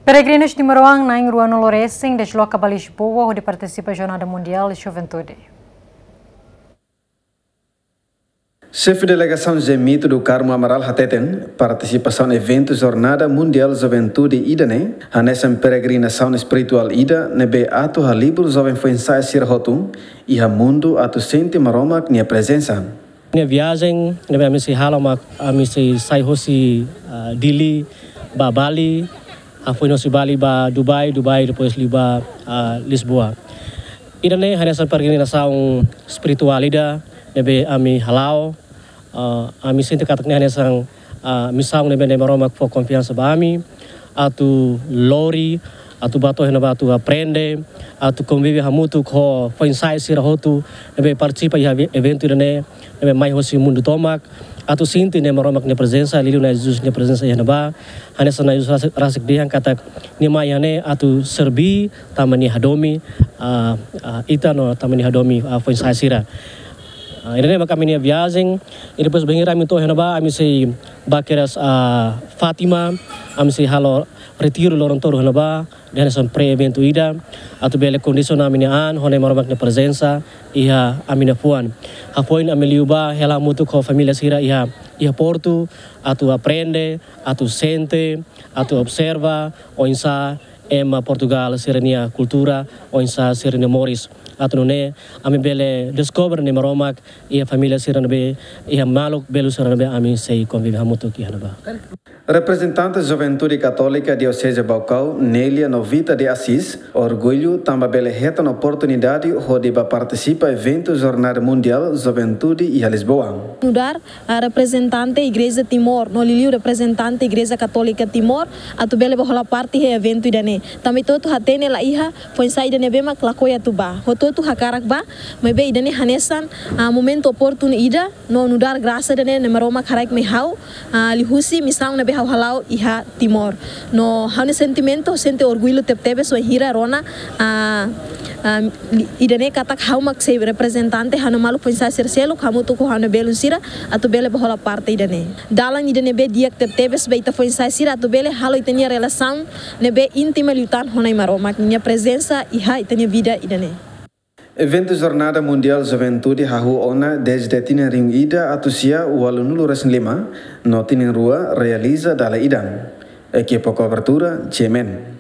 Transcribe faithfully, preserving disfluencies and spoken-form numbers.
Peregrinus nima-rohan na'in ruanulu resin desloka ba Lisboa hodi partisipa Jornada Mundiál Juventude. Xefe Delegasaun Zé Mito do Carmo Amaral hateten, partisipasaun eventu Jornada Mundiál Juventude ida-ne'e hanesan peregrinasaun espirituál ida ne'ebé atu halibur joven foin-sa'e sira hotu iha mundu atu sente Maromak nia prezensa. Nia viajen ne'ebé ami sei halo mak ami sei sai hosi, ah, Dili ba Bali, hafoin hosi Bali ba Dubai, Dubai depois liu ba, ah, Lisboa. Ida-ne'e hanesan peregrinasaun espirituál ida ne'ebé ami hala'o, ah, ami sente katak ne'e hanesan, ah, misaun ne'ebé Maromak fó konfiansa ba ami atu lori, atu bá to'o iha ne'ebá atu aprende, atu konvive hamutuk ho foin-sa'e sira hotu ne'ebé partisipa iha eventu ida-ne'e, ne'ebé mai hosi mundu tomak, atu sente Maromak nia prezensa, liuliu Na'i Jesus nia prezensa iha ne'ebá. Hanesan Na'i Jesus rasik, rasik dehan katak nia mai iha ne'e atu serbí, tanba nia hadomi, ah, ah, ita no tanba nia hadomi, ah, foin-sa'e sira. Ah, ida-ne'e mak ami-nia viajen, i depois bainhira ami to'o iha ne'ebá, ami sei bá kedas, ah, Fátima, ami sei halo retiru loron tolu iha ne'ebá, hanesan pré-eventu ida, atu bele kondisiona ami-nia an ho Maromak nia prezensa iha ami-nia fuan. Hafoin ami liu ba hela hamutuk ho família sira iha, iha Portu, atu aprende, atu sente, atu observa oinsá ema Portugál sira-nia kultura, oinsá sira-nia moris. Atu nune'e ami bele deskobre Maromak iha família sira ne'ebé, iha maluk belun sira ne'ebé ami sei konvive hamutuk iha ne'ebá. Reprezentante Juventude Katólika Dioseze Baucau, Nélia Novita de Assis, orgullu tanba bele hetan oportunidade hodi bá partisipa eventu Jornada Mundiál Juventude iha Lisboa. Nu'udar, ah, reprezentante Igreja Timor, no liuliu reprezentante Igreja Katólika Timor, atu bele bá hola parte iha eventu ida-ne'e. Tanba ita hotu hatene la iha foin-sa'e ida ne'ebé mak lakohi atu bá. Hotu-hotu hakarak bá, maibé ida-ne'e hanesan, ah, momentu oportunu ida, no nu'udar grasa ida-ne'e ne'ebé Maromak haraik mai ha'u, ah, liuhusi misaun ne'ebé ha'u hala'o iha Timor. No ha'u-nia sentimentu, sente orgullu tebetebes wainhira rona, ah, ah, li-, ida-ne'e katak ha'u mak sei reprezentante ha'u-nia maluk foin-sa'e sira seluk, hamutuk ho ha'u-nia belun sira, atu bele bá hola parte ida-ne'e. Dalan ida ne'ebé di'ak tebetebes ba ita foin-sa'e sira atu bele halo ita-nia relasaun ne'ebé íntima liután ho Na'i Maromak nia prezensa iha ita-nia vida ida-ne'e. Eventu Jornada Mundiál Juventude hahú ona dezde tinan rihun ida atus sia ualunulu resin lima, no tinan rua realiza dala ida. Ekipa kobertura, G M N.